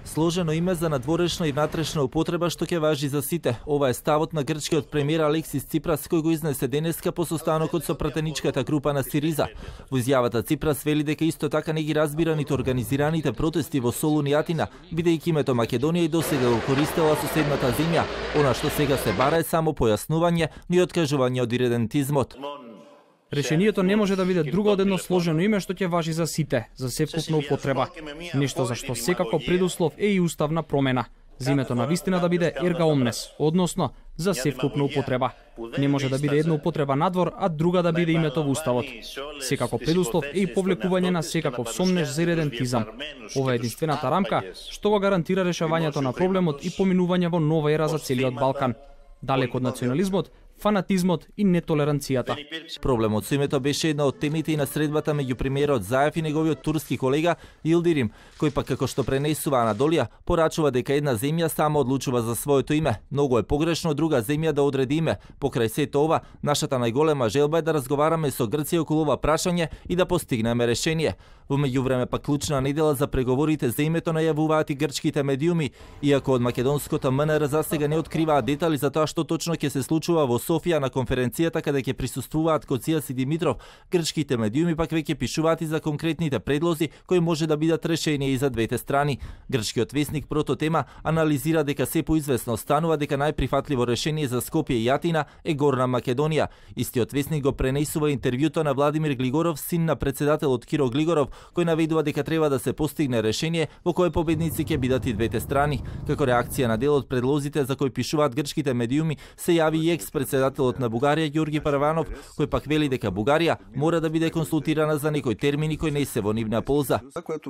Сложено име за надворешна и внатрешна употреба што ќе важи за сите. Ова е ставот на грчкиот премиер Алексис Ципрас кој го изнесе денеска по состанокот со пратеничката група на Сириза. Во изјавата Ципрас вели дека исто така не ги разбира ниту организираните протести во Солун и Атина, бидејќи името Македонија и досега го користела соседната земја. Она што сега се бара е само појаснување и откажување од иредентизмот. Решението не може да биде друго од едно сложено име што ќе важи за сите, за севкупна употреба. Нешто за што секако предуслов е и уставна промена. За името на вистина да биде ерга омнес, односно за севкупна употреба. Не може да биде една употреба надвор, а друга да биде името во уставот. Секако предуслов е и повлекување на секаков сомнеж за иредентизам. Ова е единствената рамка што го гарантира решавањето на проблемот и поминување во нова ера за целиот Балкан. Далеко од национализмот, фанатизмот и нетолеранцијата. Проблемот со името беше една од темите и на средбата меѓу премиерот Заев и неговиот турски колега Илдирим, кој пак како што пренесува Анадолија, порачува дека една земја само одлучува за своето име. Многу е погрешно друга земја да одреди име. Покрај сето ова, нашата најголема желба е да разговараме со Грција околу ова прашање и да постигнеме решение. Во меѓувреме пак клучна недела за преговорите за името најавуваат и грчките медиуми, иако од македонското МНР засега не откриваат детали за тоа што точно ќе се случува во Софија на конференцијата каде ќе присуствуваат Коцијас и Димитров. Грчките медиуми пак веќе пишуваат и за конкретните предлози кои може да бидат решение и за двете страни. Грчкиот весник Прототема анализира дека се поизвестно станува дека најприфатливо решение за Скопје и Атина е Горна Македонија. Истиот весник го пренесува интервјуто на Владимир Глигоров, син на председателот Киро Глигоров, кој наведува дека треба да се постигне решение во кое победници ќе бидат и двете страни. Како реакција на дел од предлозите за кои пишуваат грчките медиуми, се јави и екс-председателот на Бугарија Ѓорги Параванов, кој пак вели дека Бугарија мора да биде консултирана за некои термини кои не се во нивна полза.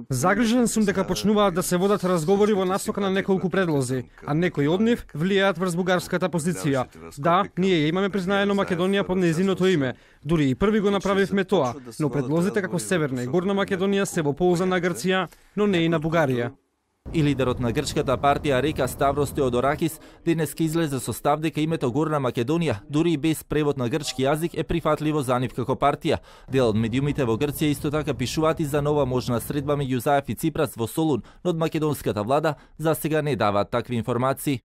Загрижен сум дека почнуваат да се водат разговори во насока на неколку предлози, а некои од нив влијаат врз бугарската позиција. Да, ние имаме признаено Македонија под нејзиното име, дури и први го направивме тоа, но предлозите како Северна и Горна Македонија се во полза на Грција, но не и на Бугарија. И лидерот на грчката партија Река Ставрос Теодоракис денеска излезе со став дека името Горна Македонија, дури и без превод на грчки јазик, е прифатливо за нив како партија. Дел од медиумите во Грција исто така пишуваат и за нова можна средба меѓу Заев и Ципрас во Солун, но од македонската влада засега не даваат такви информации.